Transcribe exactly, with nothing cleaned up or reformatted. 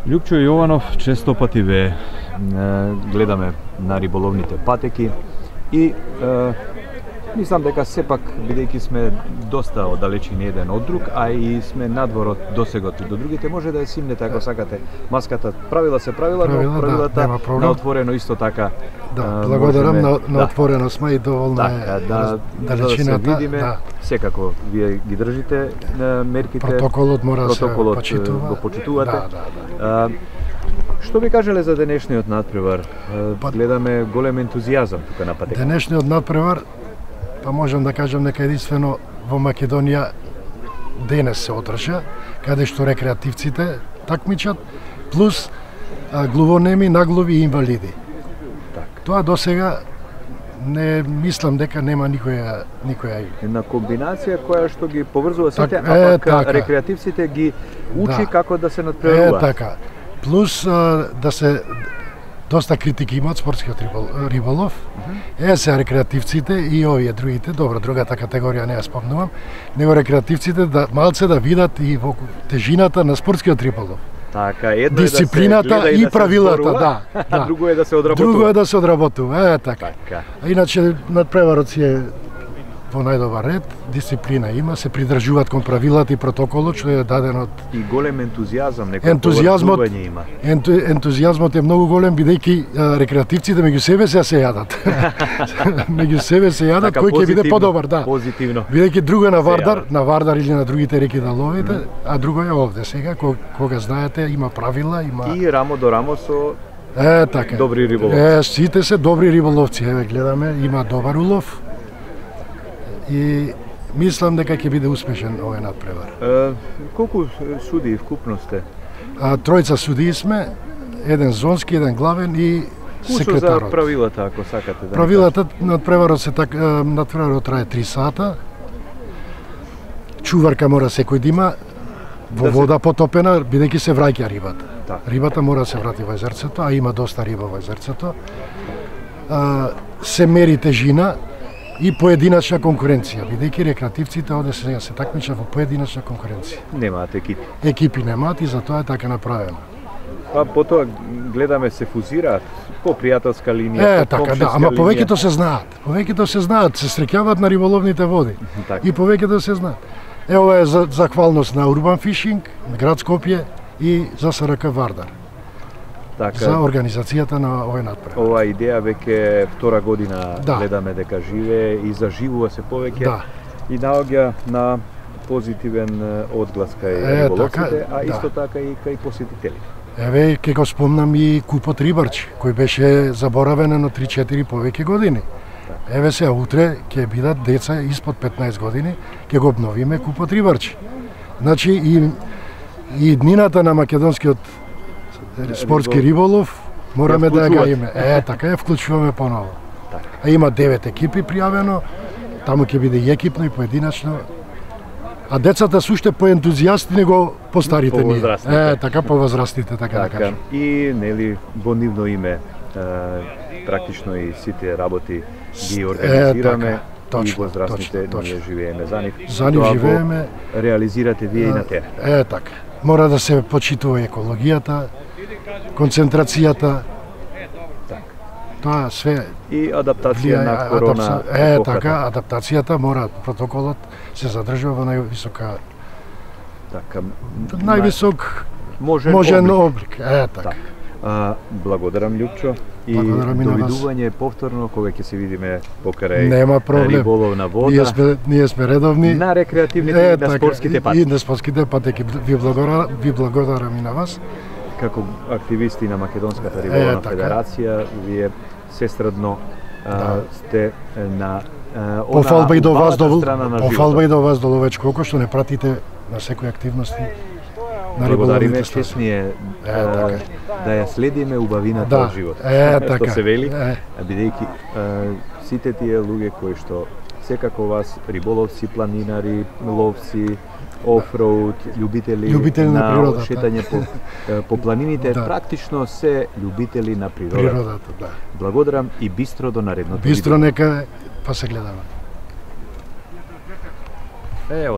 Љупчо Јованов често пати ве гледаме на риболовните патеки и е, мислам дека сепак, бидејќи сме доста оддалечени еден од друг, а и сме надвор од досегот до другите, може да ја симнете ако сакате маската. Правила се правила, правила но правилата да, на отворено исто така. Да, благодарам можеме, на, на да. отворено сме и доволна така, е да, далечината. Да се видиме, да. секако вие ги држите мерките. Протоколот мора да се почитува. Го почитувате. Да, да, да. А, што би кажеле за денешниот надпревар? Па, гледаме голем ентузијазам тука на патека. Денешниот надпревар, па можам да кажам дека единствено во Македонија денес се одржа, каде што рекреативците такмичат, плюс а, глувонеми, наглови и инвалиди. Так. Тоа досега не мислам дека нема никоја никоја една комбинација која што ги поврзува сите, так, а пак така. рекреативците ги учи да. како да се надпреварува. Е така. Плюс а, да се доста критики имаат спортскиот риболов. Uh -huh. Е се рекреативците и овие другите, добро, другата категорија не ја спомнувам, него рекреативците да малце да видат и во тежината на спортскиот риболов. Така, едно дисциплината е да се и да правилата, зборува, да, да. Друго е да се одработува. Друго е да се одработува, е така. така. А иначе надпреварот си е во најдобар ред, дисциплина има, се придржуваат кон правилата и протоколот што е даден од и голем ентузијазам, некој ентузијазмот има. Енту, ентузијазмот е многу голем бидејќи рекреативците меѓу себе се се јадат. Меѓу себе се јадат, така, кој ќе биде подобар, да. Позитивно. Бидејќи друго е на Вардар, на Вардар или на другите реки да ловите, mm. а друго е овде сега, кога знаете, има правила, има и рамо до рамо со Е, така. добри риболовци. Е, сите се добри риболовци, еве гледаме, има добар улов. И мислам дека ќе биде успешен овој надпревар. Е, колку судии вкупно сте? А, тројца судии сме, еден зонски, еден главен и секретарот. За правилата, ако сакате да. Правилата надпреварот се така, надпреварот трае три сата. Чуварка мора секој да има во да вода се... потопена, бидејќи се враќа рибата. Так. Рибата мора да се врати во езерцето, а има доста риба во езерцето. А, се мери тежина и поединачна конкуренција, бидејќи рекреативците овде се, се такмичат во поединачна конкуренција. Немаат екипи. Екипи немаат и затоа е така направено. Па потоа гледаме се фузираат по пријателска линија, Е, по така да, ама линија. повеќето се знаат. Повеќето се знаат, се среќаваат на риболовните води. така. И повеќето се знаат. Е, ова е за захвалност на Урбан Фишинг, на град Скопје и за С Р К Вардар. Така, за организацијата на овој надпревар. Ова идеја веќе втора година да. гледаме дека живее и заживува се повеќе да. и наоѓа на позитивен одглас кај риболовците, а исто да. така и кај посетителите. Еве, ќе го спомнам и купот Рибарчи, кој беше заборавен на три-четири повеќе години. Так. Еве се, утре ќе бидат деца испод петнаесет години, ќе го обновиме купот Рибарчи. Значи, и, и днината на македонскиот спортски риболов мораме да ја гајиме. Е, така ја вклучуваме поново. Так. А има девет екипи пријавено, таму ќе биде и екипно и поединачно. А децата се уште поентузијасти него постарите ние. Е, така повозрастните, така, така да кажам. И нели во нивно име е, практично и сите работи ги организираме. Е, така. Точно, и возрастните точно, ние живееме за нив. За нив живееме. Реализирате вие е, и на терен. Е, така. Мора да се почитува екологијата, концентрацијата. Так. Тоа све и адаптација на корона. Адапта... Е, така, адаптацијата мора, протоколот се задржува во највисока така, највисок можен, можен облик. облик. Е, така. Так. А, благодарам Љупчо и довидување повторно кога ќе се видиме покрај Нема проблем. Риболов на вода. Ние сме ние сме редовни на рекреативните е, и на така, спортските патеки. И на спортските патеки. Ви благодарам, ви благодарам и на вас. Како активисти на Македонската риболовна е, така. федерација, вие сестрадно да. сте на она пофалба и до вас до пофалба и до вас до Ловеч Коко што не пратите на секои активности. Благодариме, честни е да ја следиме убавината да, од живот. Е, така. Што се вели, е. бидејќи сите тие луѓе кои што секако вас риболовци, планинари, ловци, офроуд, љубители, љубители на, на природата, шетање по, по планините, да. практично се љубители на природата. Природата, да. Благодарам и бистро до наредното бистро видео. Нека па се гледаме. Ево.